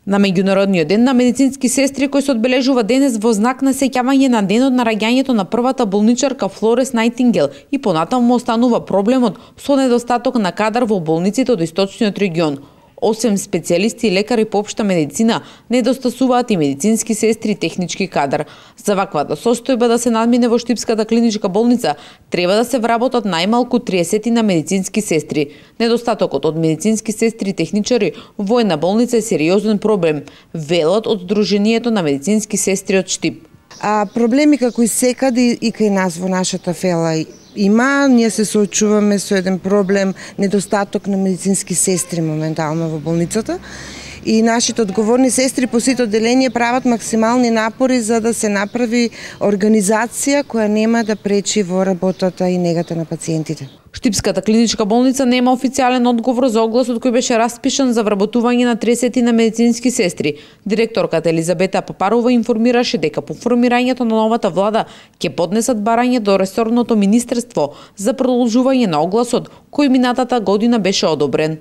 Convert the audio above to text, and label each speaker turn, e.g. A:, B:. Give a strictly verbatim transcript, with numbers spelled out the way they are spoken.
A: На меѓународниот ден на медицински сестри, кој се одбележува денес во знак на сеќавање на денот на раѓањето на првата болничарка Флорес Најтингел и понатаму останува проблемот со недостаток на кадар во болниците од источниот регион. Освен специјалисти и лекари по општа медицина, недостасуваат и медицински сестри и технички кадар. За ваквата состојба да се надмине во Штипската клиничка болница, треба да се вработат најмалку триесет на медицински сестри. Недостатокот од медицински сестри и техничари во една болница е сериозен проблем, велат од Сдруженијето на медицински сестри од Штип.
B: А проблеми како и секаде и кај нас во нашата фела има, ние се соочуваме со еден проблем, недостаток на медицински сестри моментално во болницата. И нашите одговорни сестри по сите одделенија прават максимални напори за да се направи организација која нема да пречи во работата и негата на пациентите.
A: Штипската клиничка болница нема официјален одговор за огласот кој беше распишан за вработување на триесет на медицински сестри. Директорката Елизабета Папарова информираше дека по формирањето на новата влада ќе поднесат барање до ресорното министерство за продолжување на огласот кој минатата година беше одобрен.